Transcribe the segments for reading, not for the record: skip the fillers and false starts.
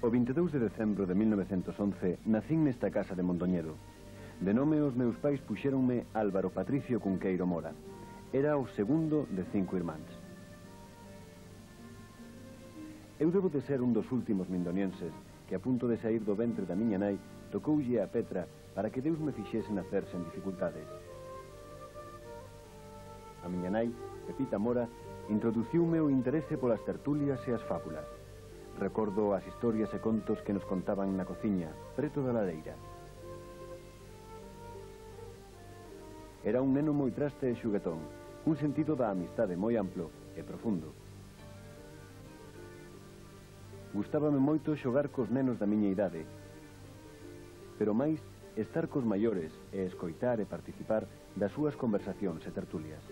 O 22 de decembro de 1911 nacín nesta casa de Mondoñedo. De nome os meus pais puxéronme Álvaro Patricio Cunqueiro Mora. Era o segundo de 5 irmáns. Eu debo de ser un dos últimos mindonienses que a punto de sair do ventre da miña nai tocoulle a Petra para que Deus me fixese nacer sen dificultades. A miña nai, Pepita Mora, introduciume o interese polas tertulias e as fábulas. Recordo as historias e contos que nos contaban na cociña, preto da lareira. Era un neno moi traste e xuguetón, un sentido da amistade moi amplo e profundo. Gustábame moito xogar cos nenos da miña idade, pero máis estar cos maiores e escoitar e participar das súas conversacións e tertulias.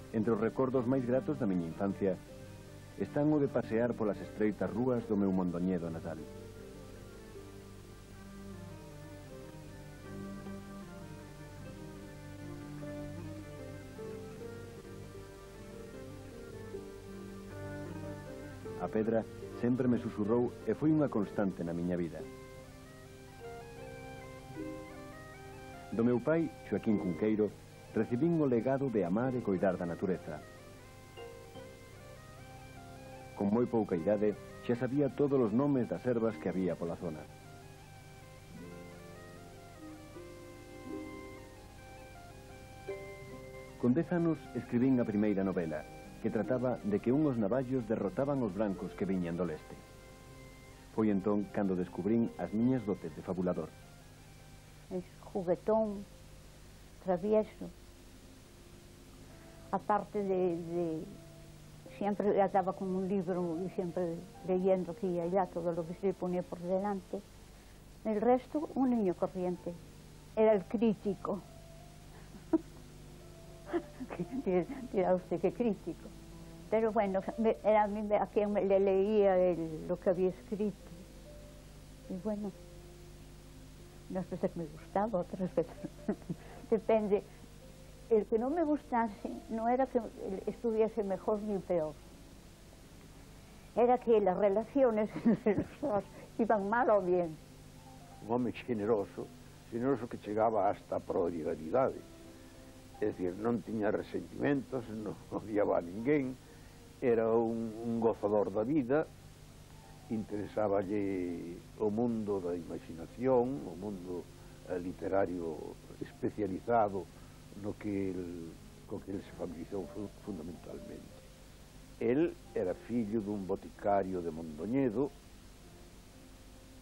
Entre os recordos máis gratos da miña infancia están o de pasear polas estreitas rúas do meu Mondoñedo natal. A pedra sempre me susurrou e foi unha constante na miña vida. Do meu pai, Xoaquín Cunqueiro, recibín o legado de amar e coidar da natureza. Con moi pouca idade, xa sabía todos os nomes das ervas que había pola zona. Con 10 anos escribín a primeira novela, que trataba de que unhos navallos derrotaban os brancos que viñan do leste. Foi entón cando descubrín as miñas dotes de fabulador. Es juguetón, travieso. Aparte de siempre andaba con un libro y siempre leyendo aquí y allá todo lo que se le ponía por delante. El resto, un niño corriente. Era el crítico. Dirá usted que crítico. Pero bueno, era a quien le leía lo que había escrito. Y bueno, unas veces me gustaba, otras veces depende. El que no me gustase no era que estuviese mejor ni peor. Era que las relaciones entre los dos iban mal o bien. Un home generoso que chegaba hasta a prodigalidade. É dicir, non tiña resentimentos, non odiaba a ninguén, era un gozador da vida, interesáballe o mundo da imaginación, o mundo literario especializado no que el se familiarizou fundamentalmente. El era fillo dun boticario de Mondoñedo,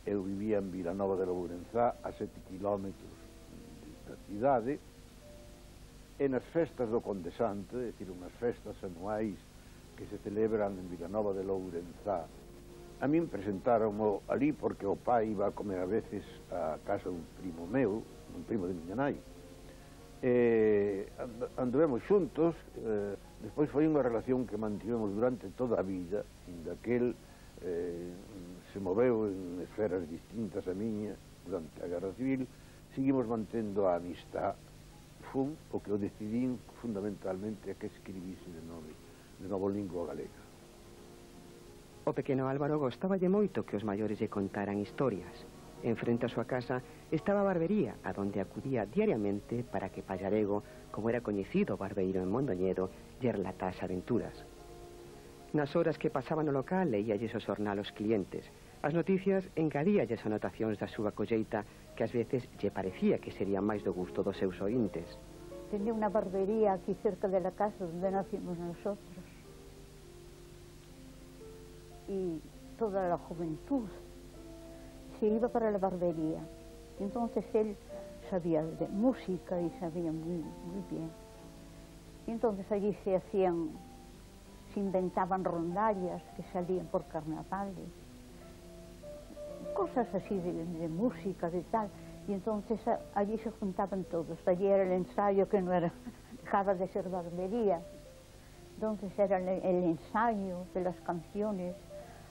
eu vivía en Vilanova de Lourenzá, a 7 kilómetros da cidade, e nas festas do Condesante, é dicir, unhas festas anuais que se celebran en Vilanova de Lourenzá, a min presentaronmo ali porque o pai iba a comer a veces a casa dun primo meu, un primo de miña nai. Anduvemos xuntos, despois foi unha relación que mantivemos durante toda a vida, inda que el se moveu en esferas distintas a miña durante a Guerra Civil, seguimos mantendo a amistad. Fun o que o decidín fundamentalmente a que escribise de novo lingua galega. O pequeno Álvaro gostáballe moito que os maiores lle contaran historias. En frente a súa casa estaba a barbería, a donde acudía diariamente para que Pallarego, como era coñecido barbeiro en Mondoñedo, lle relatase aventuras. Nas horas que pasaba no local, leíalles o xornal aos clientes. As noticias engadíalles anotacións da súa colleita que ás veces lle parecía que serían máis do gusto dos seus ointes. Tenía una barbería aquí cerca de la casa donde nacimos nosotros. Y toda la juventud se iba para la barbería. Entonces él sabía de música y sabía muy bien. Y entonces allí se inventaban rondallas que salían por carnavales, cosas así de música, de tal. Y entonces allí se juntaban todos. Allí era el ensayo que no era, dejaba de ser barbería. Entonces era el ensayo de las canciones,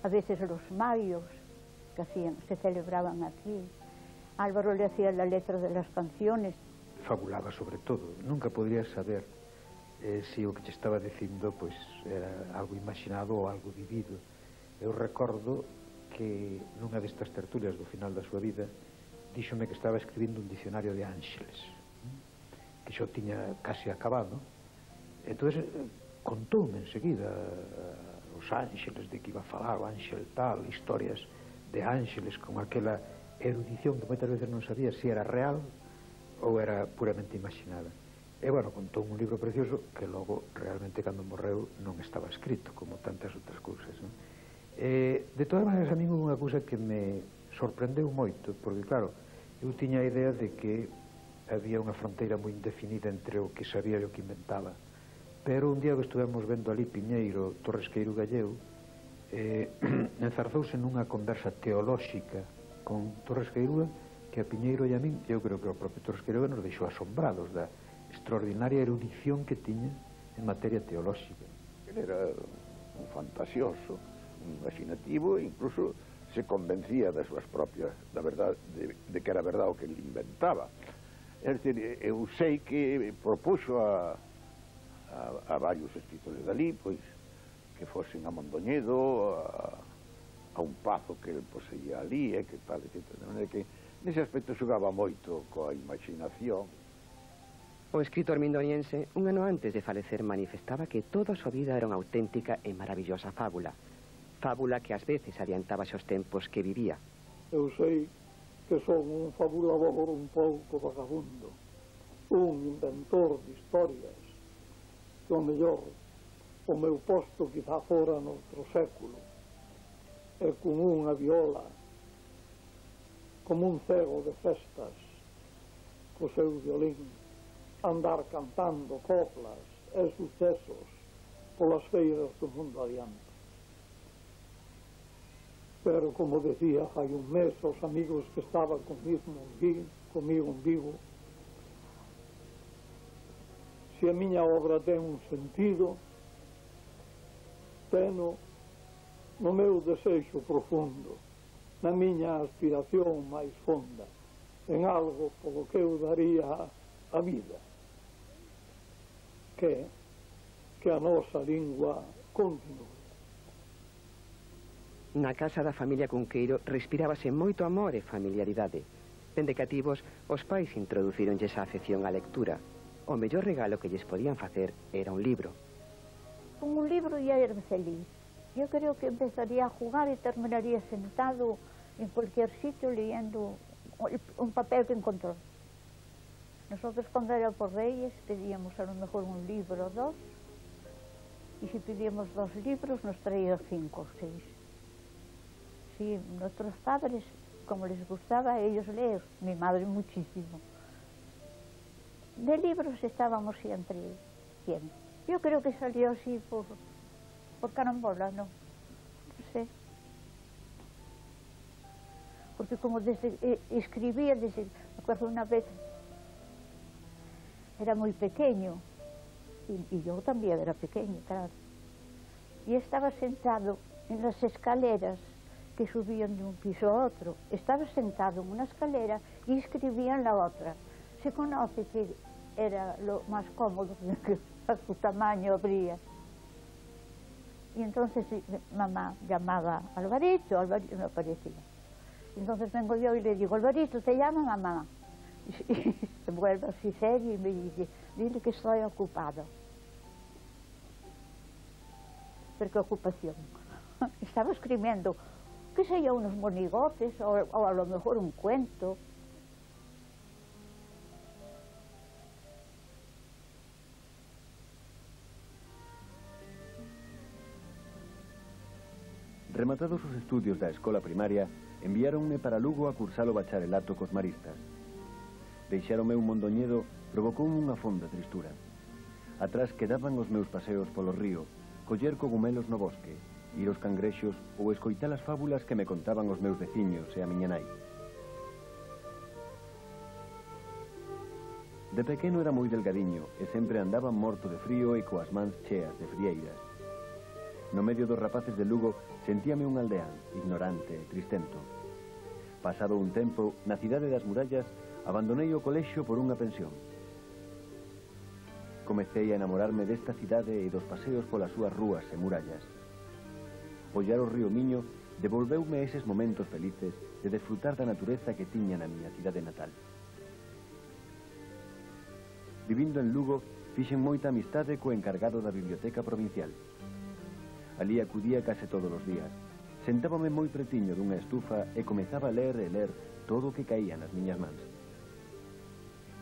a veces los mayos que se celebraban aquí. Álvaro le hacía la letra de las canciones. Fabulaba sobre todo, nunca podría saber se o que te estaba dicindo pois era algo imaginado ou algo vivido. Eu recordo que nunha destas tertulias do final da súa vida díxome que estaba escribindo un dicionario de ángeles, que xo tiña casi acabado. Entón contoume enseguida os ángeles de que iba a falar, o ángel tal, historias de ángeles con aquela erudición que moitas veces non sabía se era real ou era puramente imaginada. E, bueno, contou un libro precioso que logo, realmente, cando morreu, non estaba escrito, como tantas outras cousas, non? De todas maneiras, a mí houve unha cousa que me sorprendeu moito, porque, claro, eu tiña a idea de que había unha fronteira moi indefinida entre o que sabía e o que inventaba. Pero un día que estuvemos vendo ali Piñeiro, Torresqueiro Galleu, enzarzouse nunha conversa teolóxica con Torresqueiro, que a Piñeiro e a min, eu creo que o propio Torresqueiro nos deixou asombrados da extraordinaria erudición que tiña en materia teolóxica. Él era un fantasioso, un imaginativo, e incluso se convencía das súas propias, da verdade, de que era verdade o que ele inventaba. É dicir, eu sei que propuxo a varios escritores dali, pois, que fosen a Mondoñedo, a un pazo que ele poseía ali, e que tal, etc. De maneira que, nese aspecto, xogaba moito coa imaginación. O escritor mindoniense, un ano antes de falecer, manifestaba que toda a súa vida era unha auténtica e maravillosa fábula. Fábula que ás veces adiantaba os tempos que vivía. Eu sei que son un fabulador un pouco vagabundo, un inventor de historias, que o mellor o meu posto quizá fora noutro século, e con unha viola, como un cego de festas, co seu violín, andar cantando coplas e sucesos polas feiras do mundo adiante. Pero, como decía fai un mes aos amigos que estaban comigo en Vigo, se a miña obra ten un sentido, teno no meu desexo profundo, na miña aspiración máis fonda, en algo polo que eu daría a vida, que a nosa lingua continue. Na casa da familia Cunqueiro respirábase moito amor e familiaridade. Dende cativos, os pais introducíronlles a afección á lectura. O mellor regalo que lles podían facer era un libro. Con un libro ia ir feliz. Yo creo que empezaría a jugar y terminaría sentado en cualquier sitio leyendo un papel que encontró. Nosotros, cuando era por Reyes, pedíamos a lo mejor un libro o dos, y si pedíamos 2 libros nos traía 5 o 6. Sí, nuestros padres, como les gustaba a ellos leer, mi madre muchísimo. De libros estábamos siempre bien. Yo creo que salió así por carambola, ¿no? No sé. Porque como escribía, me acuerdo una vez, era muy pequeño, y yo también era pequeño, claro. Y estaba sentado en las escaleras que subían de un piso a otro. Estaba sentado en una escalera y escribía en la otra. Se conoce que era lo más cómodo, que a su tamaño abría. Y entonces mamá llamaba a Alvarito, Alvarito no aparecía. Entonces vengo yo y le digo, Alvarito, ¿te llama mamá? Y se vuelve así serio y me dice, dile que estoy ocupado. ¿Pero qué ocupación? Estaba escribiendo, qué sé yo, unos monigotes o a lo mejor un cuento. Rematados os estudios da escola primaria, enviáronme para Lugo a cursar o bacharelato cos maristas. Deixáronme un Mondoñedo provocou unha fonda tristura. Atrás quedaban os meus paseos polo río, coller cogumelos no bosque, ir aos cangrexos ou escoitar as fábulas que me contaban os meus veciños e a miña nai. De pequeno era moi delgadiño e sempre andaba morto de frío e coas mans cheas de frieiras. No medio dos rapaces de Lugo sentíame un aldeán, ignorante e tristento. Pasado un tempo, na cidade das murallas, abandonei o colexio por unha pensión. comecei a enamorarme desta cidade e dos paseos polas súas rúas e murallas. Ollar o río Miño devolveume eses momentos felices de desfrutar da natureza que tiña na miña cidade natal. Vivindo en Lugo, fixen moita amistade co encargado da biblioteca provincial. Alí acudía case todos os días. Sentábame moi pretiño dunha estufa e comezaba a ler e ler todo o que caía nas miñas mans.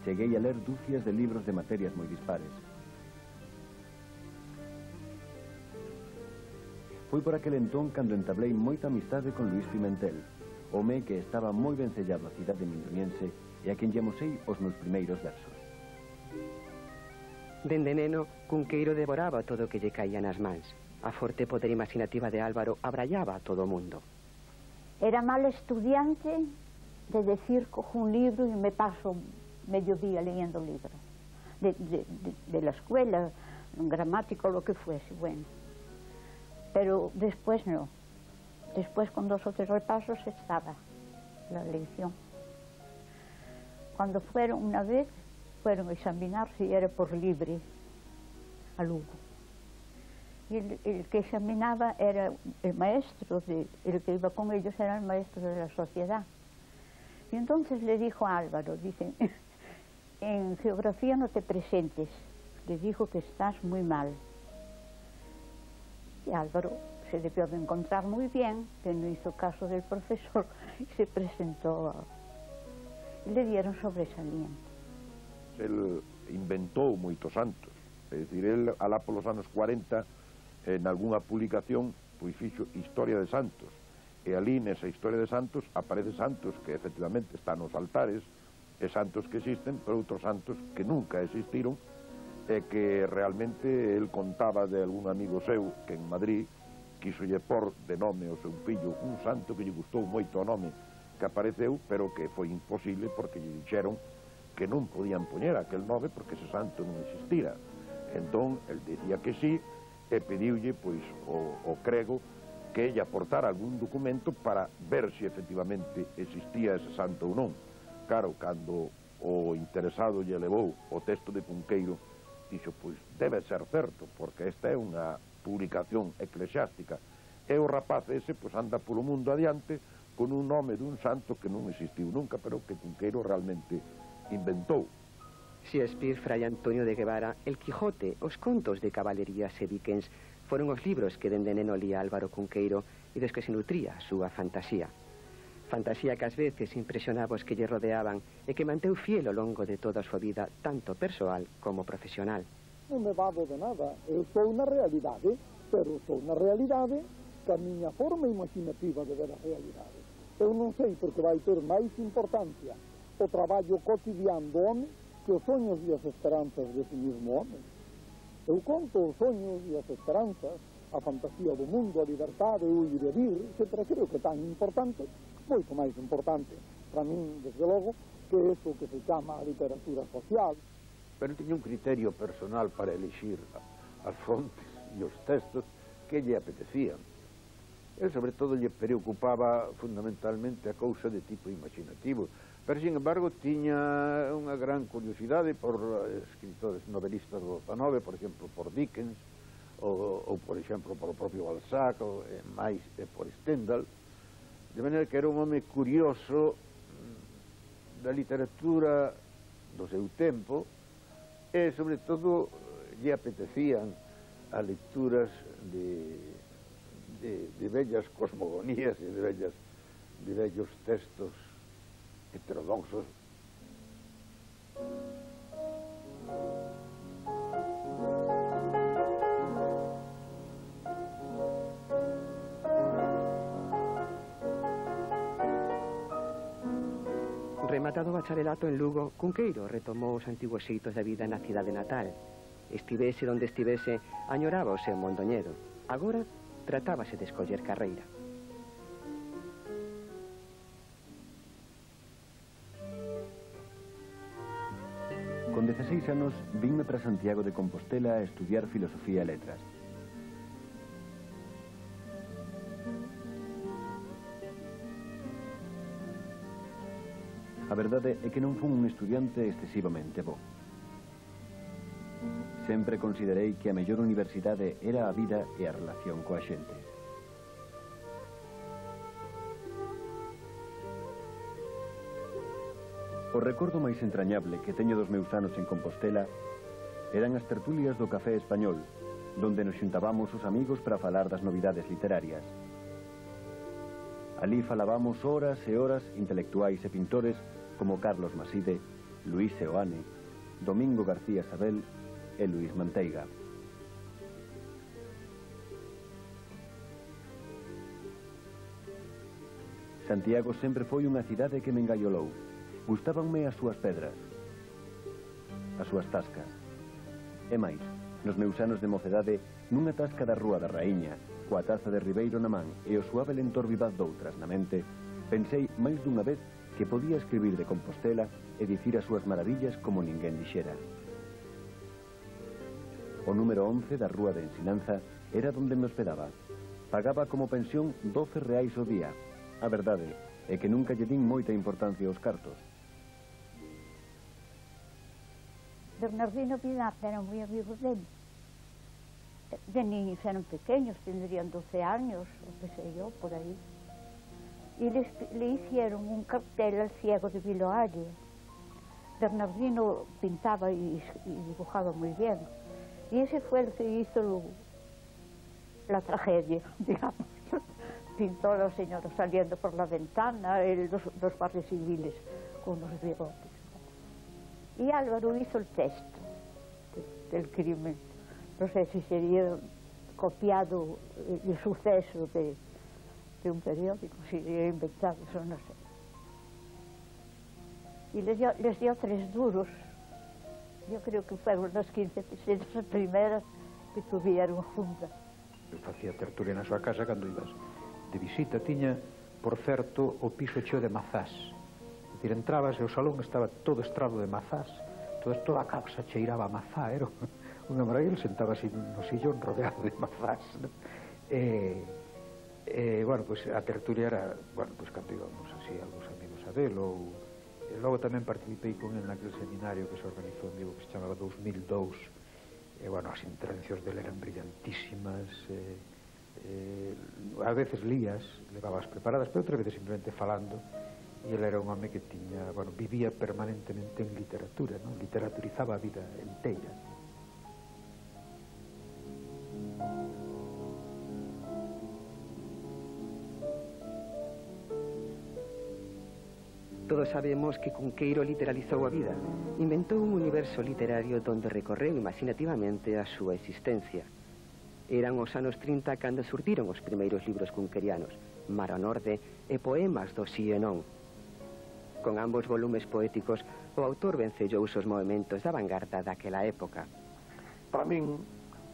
Cheguei a ler dúcias de libros de materias moi dispares. Foi por aquel entón cando entablei moita amistade con Luís Pimentel, home que estaba moi vencellado á cidade mindoniense e a quen lle amosei os meus primeiros versos. Dende neno, Cunqueiro devoraba todo o que lle caía nas mans. A forte poder imaginativa de Álvaro abrallaba a todo o mundo. Era mal estudiante de decir, cojo un libro y me paso medio día leyendo libros de la escuela, un gramático, lo que fuese, bueno. Pero después no. Después con 2 o 3 repasos estaba la lección. Cuando fueron una vez, fueron a examinar si era por libre a Lugo. Y el que examinaba era el maestro, el que iba con ellos era el maestro de la sociedad. Y entonces le dijo a Álvaro, dice, en geografía no te presentes, le dijo que estás muy mal. Y Álvaro se debió de encontrar muy bien, que no hizo caso del profesor y se presentó y le dieron sobresaliente. El inventou moitos santos, é dicir, el alá polos anos 40 en algunha publicación pois fixo Historia de Santos, e ali nesa Historia de Santos aparece santos que efectivamente están nos altares, e santos que existen, pero outros santos que nunca existiron, e que realmente el contaba de algún amigo seu que en Madrid quiso lle por de nome ao seu fillo un santo que lle gustou moito o nome que apareceu, pero que foi imposible porque lle dixeron que non podían poñer aquel nome porque ese santo non existira. Entón, el dicía que sí, e pediulle, pois, o crego que lle aportara algún documento para ver se efectivamente existía ese santo ou non. Claro, cando o interesado lle levou o texto de Cunqueiro, dixo, pois, debe ser certo, porque esta é unha publicación eclesiástica, e o rapaz ese, pois, anda polo mundo adiante con un nome dun santo que non existiu nunca, pero que Cunqueiro realmente inventou. Shakespeare, Fray Antonio de Guevara, El Quijote, os contos de caballerías e Dickens foron os libros que dende neno lía Álvaro Cunqueiro e dos que se nutría a súa fantasía. Fantasía que ás veces impresionaba os que lle rodeaban e que manteu fiel ao longo de toda a súa vida, tanto persoal como profesional. Non me vado de nada, eu sou na realidade, pero sou na realidade que a miña forma imaginativa de ver a realidade. Eu non sei porque vai ter máis importancia o traballo cotidiano do home que os soños e as esperanzas desse mesmo home. Eu conto os soños e as esperanzas, a fantasía do mundo, a liberdade, o ir e vir, etc. Creo que tan importante, moito máis importante para min, desde logo, que eso que se chama a literatura social. Pero tiña un criterio personal para elixir as fontes e os textos que lle apetecían. El, sobre todo, lle preocupaba fundamentalmente a cousa de tipo imaginativo, pero, sin embargo, tiña unha gran curiosidade por escritores novelistas do XIX, por exemplo, por Dickens, ou por exemplo, por o propio Balzac, ou máis por Stendhal, de maneira que era un home curioso da literatura do seu tempo, e, sobre todo, lle apetecían as lecturas de bellas cosmogonías e de bellos textos heterodoxos. Rematado o bacharelato en Lugo, Cunqueiro retomou os antigos xeitos da vida na cidade natal. Estivese onde estivese, añoraba o seu mondoñedo. Agora, tratábase de escoller carreira. Con 16 anos, vinme para Santiago de Compostela a estudiar filosofía e letras. A verdade é que non fun un estudiante excesivamente bo. Sempre considerei que a mellor universidade era a vida e a relación coa xente. O recordo máis entrañable que teño dos meus anos en Compostela eran as tertulias do Café Español, donde nos xuntábamos os amigos para falar das novidades literarias. Alí falábamos horas e horas intelectuais e pintores como Carlos Maside, Luis Seoane, Domingo García Sabel e Luis Manteiga. Santiago sempre foi unha cidade que me engaiolou. Gustábanme as súas pedras, as súas tascas. E máis, nos meus anos de mocedade, nunha tasca da Rúa da Raíña, coa taza de Ribeiro na man e o suave lentor vivaz doutras na mente, pensei máis dunha vez que podía escribir de Compostela e dicir as súas maravillas como ninguén dixera. O número 11 da Rúa de Ensinanza era donde me hospedaba. Pagaba como pensión 12 reais ao día. A verdade é que nunca lle din moita importancia aos cartos. Bernardino Pinar eran moi amigos dele. De niños eran pequeños, tendrían 12 años, o que sei yo, por aí. Y le hicieron un cartel al ciego de Viloalle. Bernardino pintaba y dibujaba muy bien. Y ese fue el que hizo la tragedia, digamos. Pintó a los señores saliendo por la ventana, los guardias civiles con los bigotes. Y Álvaro hizo el texto del crimen. No sé si sería copiado el suceso de un periódico, si sería inventado, eso no sé. Y les dio 3 duros. Yo creo que fueron las 15 pesetas primeras que tuvieron juntas. Eu facía tertulia na súa casa cando ibas de visita. Tiña, por certo, o piso cheo de mazás. É dicir, entrabas e o salón estaba todo estrado de mazás. Toda a casa cheiraba a mazá, era unha maravilla. Sentaba así no sillón rodeado de mazás, ¿no? Bueno, pues a tertulia era, bueno, pues cando íbamos así algúns amigos a velo, e logo tamén participei con él naquele seminario que se organizou en Vigo que se chamaba 2002, e bueno, as intervencións dele eran brillantísimas, a veces lías, levabas preparadas, pero outras veces simplemente falando, e ele era un home que tiña, bueno, vivía permanentemente en literatura, ¿no? Literaturizaba a vida inteira. Todos sabemos que Cunqueiro literalizou a vida. Inventou un universo literario donde recorreu imaginativamente a súa existencia. Eran os anos 30 cando surdiron os primeiros libros cunquerianos, Mar ao Norte e Poemas do Si e Non. Con ambos volumes poéticos, o autor vencellou os movimentos da vanguarda daquela época. Para min,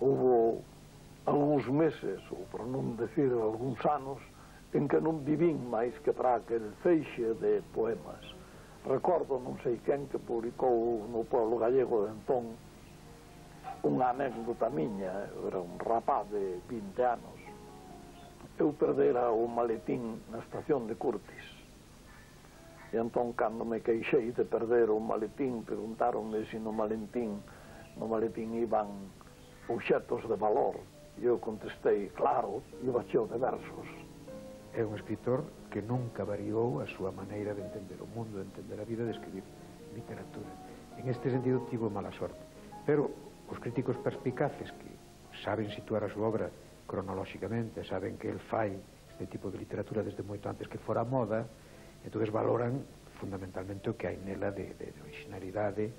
houve algúns meses, ou por non decir algúns anos, en que non vivín máis que para aquel feixe de poemas. Recordo non sei quen que publicou no pueblo gallego de entón unha anécdota miña. Eu era un rapaz de 20 anos. Eu perdera o maletín na estación de Curtis. E entón, cando me queixei de perder o maletín, preguntaronme se no maletín iban obxetos de valor. E eu contestei, claro, iba cheo de versos. É un escritor que nunca variou a súa maneira de entender o mundo, de entender a vida, de escribir literatura. En este sentido tivo mala sorte. Pero os críticos perspicaces que saben situar a súa obra cronolóxicamente, saben que el fai este tipo de literatura desde moito antes que fora moda, entonces valoran fundamentalmente o que hai nela de originalidade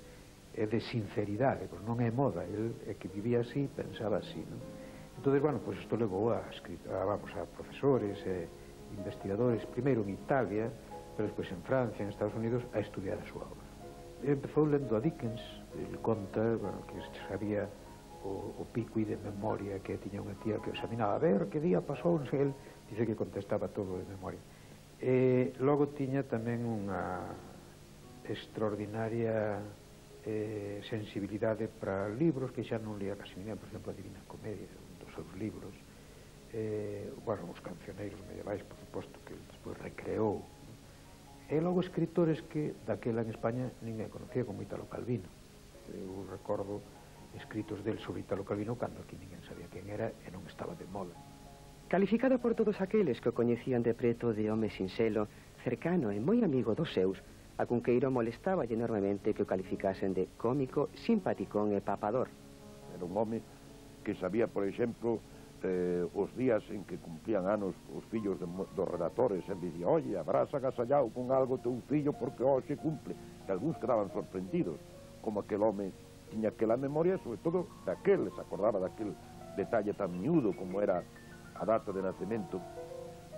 e de sinceridade, pois non é moda, el é que vivía así, pensaba así, non? Entonces, bueno, pues isto levou a profesores e investigadores, primeiro en Italia, pero despois en Francia, en Estados Unidos, a estudiar a súa obra. Empezou lendo a Dickens, ele conta, bueno, que sabía o pico de memoria, que tiña unha tía que examinaba a ver que día pasou, non sei, el dice que contestaba todo de memoria. Logo tiña tamén unha extraordinaria sensibilidade para libros que xa non lía casi ninguén, por exemplo, a Divina Comedia, un dos seus libros, bueno, os cancioneiros medievais, por suposto, que despois recreou. E logo escritores que daquela en España ninguén conocía, como Italo Calvino. Eu recordo escritos del sobre Italo Calvino cando aquí ninguén sabía quen era e non estaba de moda. Calificado por todos aqueles que o coñecían de preto de home sinxelo, cercano e moi amigo dos seus, a Cunqueiro molestaba enormemente que o calificasen de cómico, simpaticón e papador. Era un home que sabía, por exemplo, os días en que cumplían anos os fillos dos redactores, e dicía, oye, habrás agasallado con algo teu fillo porque hoxe cumple. E algúns quedaban sorprendidos, como aquel home tiña aquela memoria, sobre todo daquel, se acordaba daquel detalle tan miúdo como era a data de nacemento,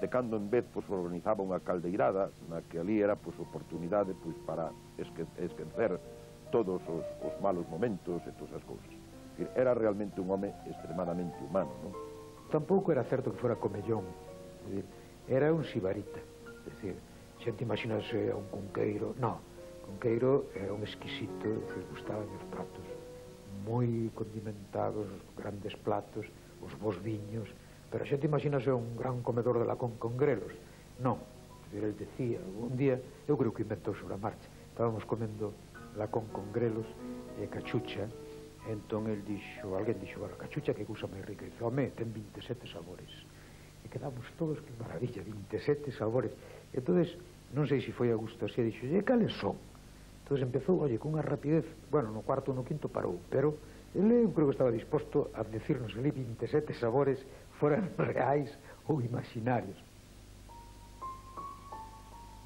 de cando en vez pues, organizaba unha caldeirada na que ali era pues, oportunidade pues, para esquecer todos os malos momentos e todas as cousas. Era realmente un home extremadamente humano, non? Tampouco era certo que fora comellón, era un sibarita, é dicir, xente imaginase a un Cunqueiro, non, Cunqueiro era un exquisito, é dicir, gustaban os pratos moi condimentados, grandes platos, os bons viños, pero a xente imaginase un gran comedor de lacón con grelos, non, é dicir, el decía, un día, eu creo que inventou sobre a marcha, estábamos comendo lacón con grelos e cachucha. Entón el dixo, alguén dixo, bueno, cachucha que cousa máis rica, e dice, home, ten 27 sabores. E quedamos todos, que maravilla, 27 sabores. Entón, non sei se foi a gusto así, dixo, e cales son? Entón empezou, oye, con unha rapidez, bueno, no cuarto ou no quinto parou, pero ele eu creo que estaba disposto a decirnos ali 27 sabores foran reais ou imaginarios.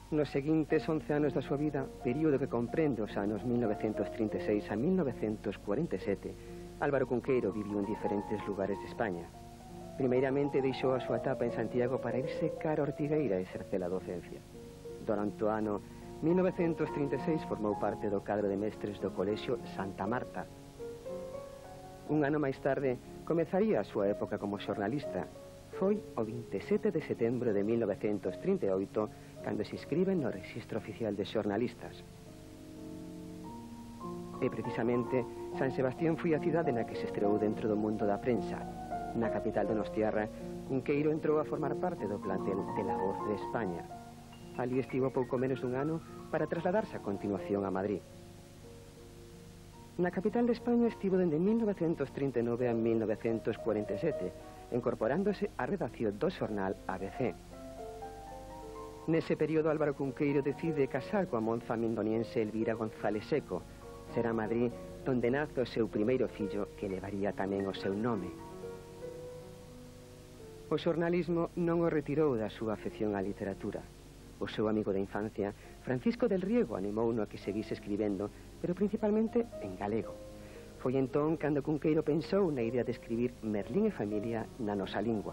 Nos seguintes 11 anos da súa vida, período que comprende os anos 1936 a 1947, Álvaro Cunqueiro viviu en diferentes lugares de España. Primeiramente deixou a súa etapa en Santiago para irse cara a Ortigueira e exercer a docencia. Durante o ano 1936 formou parte do cadro de mestres do Colexio Santa Marta. Un ano máis tarde, comezaría a súa época como xornalista. Foi o 27 de setembro de 1938 cando se inscriben no Rexistro Oficial de Xornalistas. E precisamente, San Sebastián foi a cidade na que se estreou dentro do mundo da prensa. Na capital donostiarra, Cunqueiro entrou a formar parte do plantel de La Voz de España. Ali estivo pouco menos dun ano para trasladarse a continuación a Madrid. Na capital de España estivo dende 1939 a 1947, incorporándose á redacción do xornal ABC. Nese período, Álvaro Cunqueiro decide casar coa monza mindoniense Elvira González Seco. Será Madrid donde nace o seu primeiro fillo, que levaría tamén o seu nome. O xornalismo non o retirou da súa afección á literatura. O seu amigo de infancia, Francisco del Riego, animouno a que seguise escribendo, pero principalmente en galego. Foi entón cando Cunqueiro pensou na idea de escribir Merlín e familia na nosa lingua.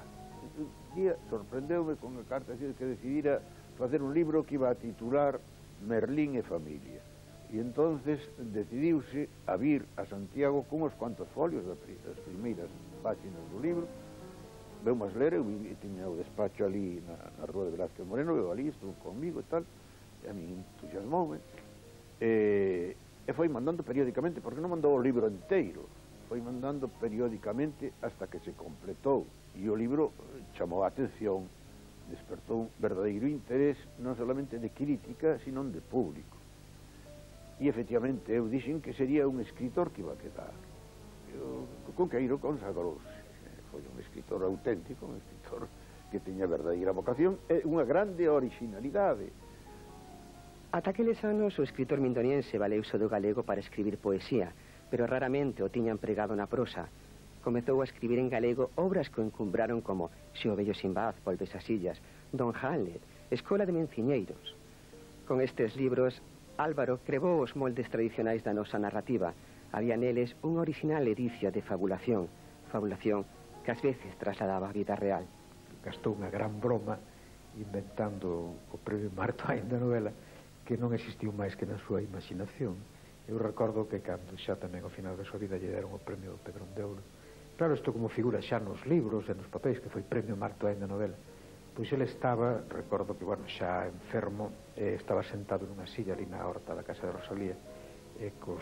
Un día sorprendeume con a carta que decidira facer un libro que iba a titular Merlín e familia. E entonces decidiuse a vir a Santiago con uns cuantos folios das primeiras páxinas do libro. Veumas ler, eu tiña o despacho ali na rúa de Velázquez Moreno, eu ali estuvo conmigo e tal, e a mí entusiasmoume, e foi mandando periódicamente, porque non mandou o libro inteiro, foi mandando periódicamente hasta que se completou, e o libro chamou a atención, despertou un verdadeiro interés non solamente de crítica, sino de público. E efectivamente eu dixen que sería un escritor que iba a quedar. Cunqueiro consagrouse, foi un escritor auténtico, un escritor que tiña verdadeira vocación e unha grande originalidade. Ata aqueles anos o escritor mindoniense valeuse do galego para escribir poesía, pero raramente o tiña empregado na prosa. Comezou a escribir en galego obras que o encumbraron como Se o vello Sinbad volves as illas, Don Hamlet, Escola de Menciñeiros. Con estes libros, Álvaro crevou os moldes tradicionais da nosa narrativa. Había neles unha original edicia de fabulación que ás veces trasladaba a vida real. Gastou unha gran broma inventando o premio Mark Twain da novela, que non existiu máis que na súa imaginación. Eu recordo que cando xa tamén ao final da súa vida lle deron o premio Pedrón de Ouro, claro, isto como figura xa nos libros e nos papéis, que foi premio Mark Twain da novela, pois ele estaba, recordo que, bueno, xa enfermo, estaba sentado nunha silla ali na horta da casa de Rosalía, coa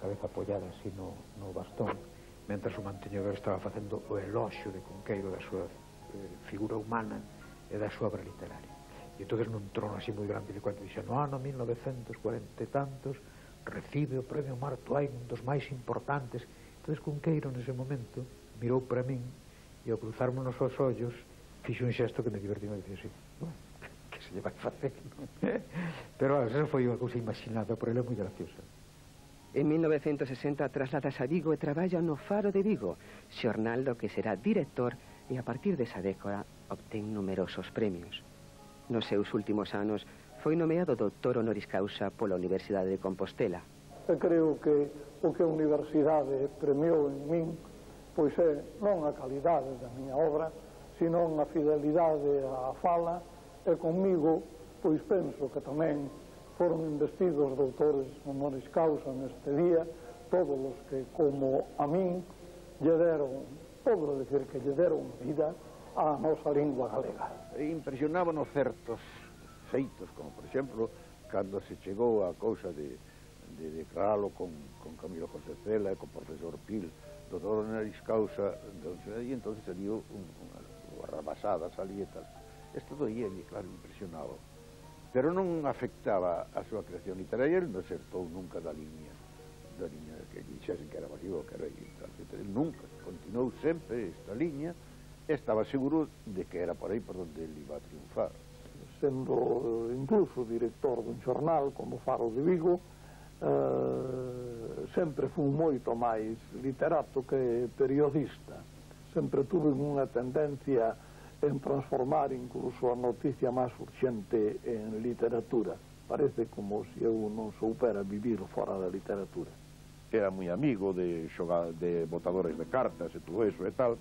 cabeza apoiada así no bastón, mentras o manteñedor estaba facendo o eloxio de Cunqueiro da súa figura humana e da súa obra literaria. E entonces nun trono así moi grande, cando dixo, no ano 1940 e tantos, recibe o premio Mark Twain, un dos máis importantes. Entón, Cunqueiro, nese momento, mirou para min, e ao cruzarmonos os ollos, fixo un xesto que me divertiu, e dixo así, bueno, que se lle vai facer, non? Pero, esa foi unha cousa imaginada, por ele é moi graciosa. En 1960 trasladas a Vigo e traballa no Faro de Vigo, xornal do que será director, e a partir desa década obtén numerosos premios. Nos seus últimos anos foi nomeado doutor honoris causa pola Universidade de Compostela. E creo que o que a Universidade premiou en min pois é non a calidade da miña obra, sino a fidelidade á fala, e comigo pois penso que tamén foron investidos doutores honoris causa neste día, todos os que, como a min, lle deron, podo decir que lle deron vida á nosa lingua galega. Impresionábanos certos feitos, como por exemplo, cando se chegou a cousa de declaralo con Camilo José Cela e con profesor Pil, doutor honoris causa, e entonces salió unha rabasada, salía e tal. Isto do IELI, claro, impresionaba. Pero non afectaba a súa creación literaria, ele non acertou nunca da liña que dixesen que era masivo, que era tal, ele nunca, continuou sempre esta liña, e estaba seguro de que era por aí por donde ele iba a triunfar. Sendo incluso director dun xornal como Faro de Vigo, sempre fui moito máis literato que periodista. Sempre tuve unha tendencia en transformar incluso a noticia máis urxente en literatura. Parece como se eu non soupera vivir fora da literatura. Era moi amigo de botadores de cartas e todo eso e tal,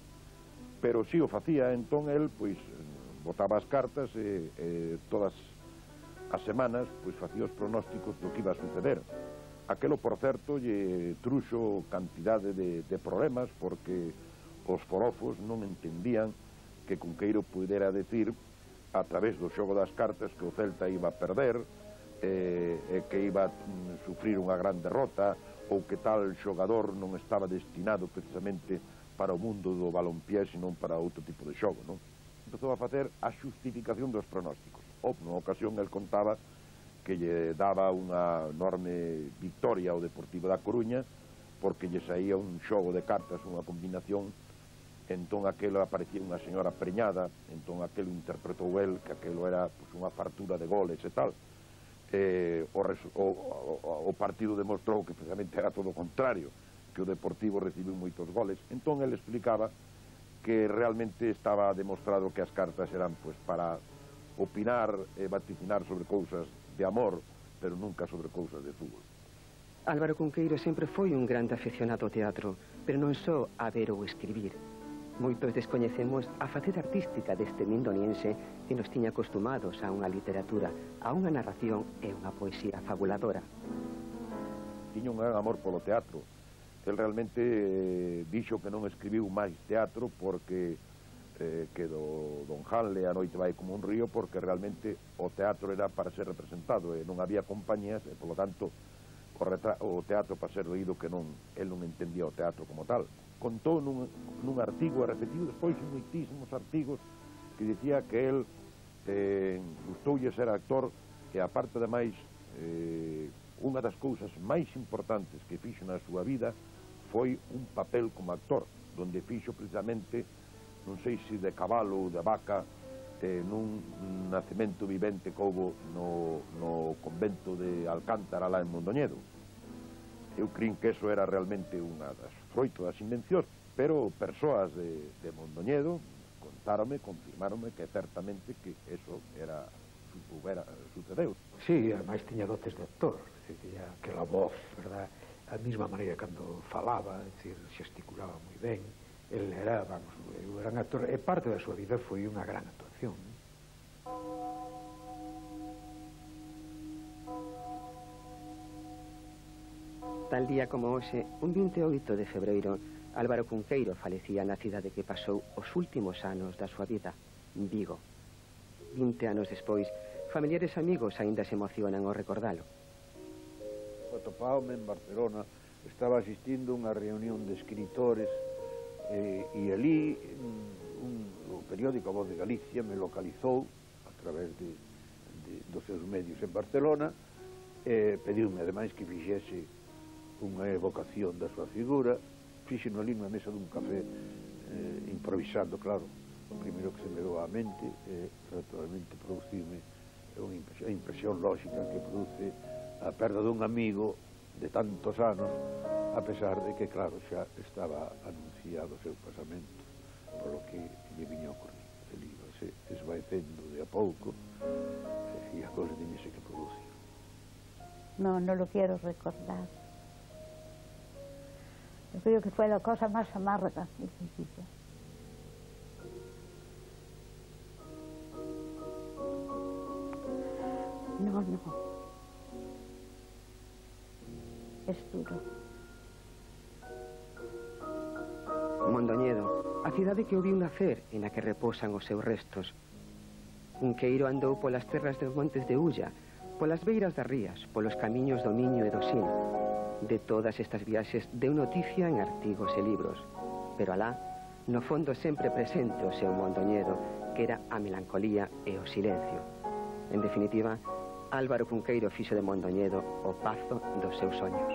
pero si o facía, entón el, pois, botaba as cartas e todas as semanas, pois, facía os pronósticos do que iba a suceder. Aquelo, por certo, lle truxo cantidade de problemas, porque os forofos non entendían que Cunqueiro pudera decir, a través do xogo das cartas, que o Celta iba a perder, e que iba a sufrir unha gran derrota, ou que tal xogador non estaba destinado precisamente para o mundo do balompié, senón para outro tipo de xogo, non? Empezou a facer a xustificación dos pronósticos. Nunha ocasión, el contaba que lle daba unha enorme victoria ao Deportivo da Coruña, porque lle saía un xogo de cartas, unha combinación, entón aquelo aparecía unha señora preñada, entón aquelo interpretou el que aquelo era pues, unha fartura de goles e tal. O partido demostrou que precisamente era todo o contrario, que o Deportivo recibiu moitos goles. Entón el explicaba que realmente estaba demostrado que as cartas eran pues, para opinar e vaticinar sobre cousas de amor, pero nunca sobre cousas de fútbol. Álvaro Cunqueiro sempre foi un grande aficionado ao teatro, pero non só a ver ou escribir. Moitos descoñecemos a faceta artística deste mindoniense que nos tiña acostumados a unha literatura, a unha narración e unha poesía fabuladora. Tiña un gran amor polo teatro. El realmente dixo que non escribiu máis teatro porque que do Don Hanley A noite vai como un río, porque realmente o teatro era para ser representado e non había compañías e, polo tanto, o teatro para ser oído, que el non entendía o teatro como tal. Contou nun artigo, e repetiu despois moitísimos artigos, que dicía que el gustoulle ser actor, e aparte de máis, unha das cousas máis importantes que fixo na súa vida foi un papel como actor, donde fixo precisamente, non sei se de cabalo ou de vaca, nun nacemento vivente que houbo no convento de Alcántara, lá en Mondoñedo. Eu crin que eso era realmente unha das froito das invencións, pero persoas de Mondoñedo contáronme, confirmáronme que certamente que eso sucedeu. Sí, ademais tiña dotes de actor, tiña aquela voz, verdad, a mesma maneira cando falaba, é dicir, xesticulaba moi ben. El era, vamos, un gran actor, e parte da súa vida foi unha gran actuación. Tal día como hoxe, un 28 de febreiro, Álvaro Cunqueiro falecía na cidade que pasou os últimos anos da súa vida, Vigo. 20 anos despois, familiares e amigos aínda se emocionan ao recordalo. Atopáome en Barcelona, estaba asistindo a unha reunión de escritores e ali o periódico A Voz de Galicia me localizou a través dos seus medios en Barcelona pediume ademais que fixese unha evocación da súa figura, fixeno ali na mesa dun café, improvisando, claro. O primeiro que se me deu á mente naturalmente produciume a impresión lógica que produce a perda dun amigo de tantos anos, a pesar de que, claro, xa estaba anunciado o seu pasamento, polo que lle viña a ocurrir. El íbase esvaecendo de a pouco e a cousa tiñese que producir. No, no lo quiero recordar. Yo creo que fue la cosa más amarga de mi vida. No, no. Es duro. Mondoñedo, a cidade que o viu nacer e na que reposan os seus restos. Cunqueiro andou polas terras dos montes de Ulla, polas beiras das rías, polos camiños do Miño e do Sil. De todas estas viaxes deu noticia en artigos e libros, pero alá, no fondo sempre presente o seu Mondoñedo, que era a melancolía e o silencio. En definitiva, Álvaro Cunqueiro fixo de Mondoñedo o pazo dos seus soños.